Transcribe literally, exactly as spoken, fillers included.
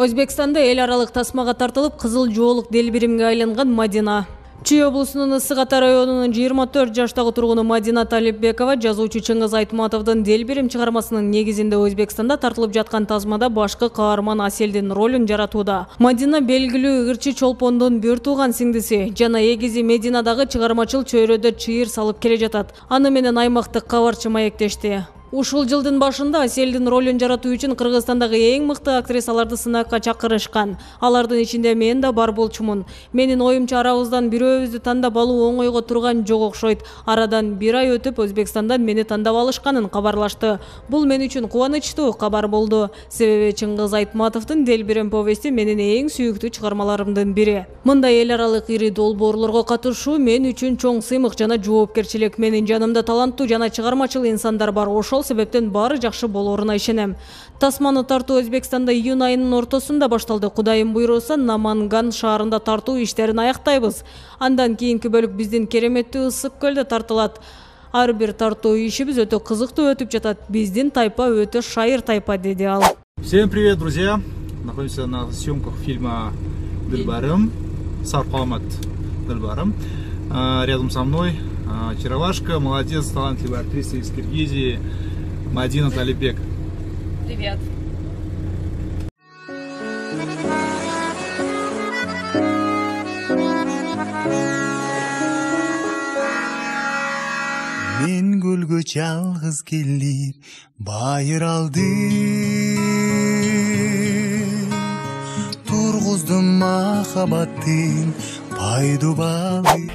Өзбекстанда эл аралык тасмага тартылып кызыл жоолук делбиримге айланган Мадина. Чүй облусунун Ысык Ата районунун жыйырма төрт жаштагы тургуну Мадина Талипбекова жазуучу Чыңгыз Айтматовдун делбирим чыгармасынын негизинде Өзбекстанда тартылып жаткан тасмада башкы каарман Аселдин ролун жаратууда. Мадина белгилүү ырчы чолпондун бир тууган сиңдиси жана эгизи Мединадагы чыгармачыл чөйрөдө чыйыр салып келе жатат. Аны менен аймактык кабарчы маектешти. Ушул жылдын башында Аселдин ролун жаратуу үчүн Кыргызстандагы эң мыкты актрисаларды сынакка чакырышкан. Алардын ичинде мен да бар болчумун. Менин оюмча арабыздан бирөөбүздү тандап алуу оңойго турган жок окшойт. Арадан бир ай өтүп Өзбекстандан мени тандап алышканын кабарлашты. Бул мен үчүн кубанычтуу кабар болду. Себеби Чыңгыз Айтматовдун делбирим повести менин эң сүйүктүү чыгармаларымдын бири. Мындай эл аралык ири долбоорлорго катышуу мен үчүн чоң сыймык жана жоопкерчилик. Менин жанымда таланттуу жана чыгармачыл инсандар бар. Ошол себептен баары жакшы болоруна ишенем. Тасманы тартуу Өзбекстанда июнь айынын ортосунда башталды. Кудайым буйруса, Наманган шаарында тартуу иштерин аяктайбыз. Андан кийинки бөлүк биздин кереметтүү Ысык көлдө тартылат. Ар бир тартуу ишибиз өтө кызыктуу өтүп жатат. Биздин тайпа өтө шайыр тайпа, деди ал. Всем привет, друзья! Находимся на съемках фильма Дилбарым, Саркаламат Дилбарым. Рядом со мной очаровашка, молодец, талантливая актриса из Киргизии Мадина Талипбек. Привет. Мен гүлгө жалгыз келип байыр алды, тургуздум махаббаттын пайду балы.